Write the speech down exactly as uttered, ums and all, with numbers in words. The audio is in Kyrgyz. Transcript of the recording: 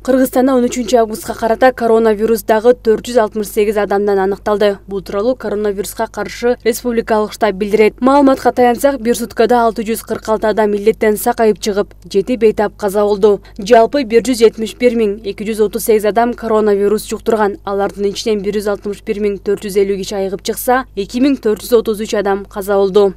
Кыргызстанда он үчүнчү августка карата коронавирус дагы төрт жүз алтымыш сегиз адамдан аныкталды. Бул тууралуу коронавируска каршы республикалык штаб билдирет. Маалыматка таянсак, бир суткада алты жүз кырк алты адам илдеттен сакайып чыгып, жети бейтап каза болду. Жалпы бир жүз жетимиш бир миң эки жүз отуз сегиз адам коронавирус жуктурган. Алардын ичинен бир жүз алтымыш бир миң төрт жүз элүү киши айыгып чыкса, эки миң төрт жүз отуз үч адам каза болду.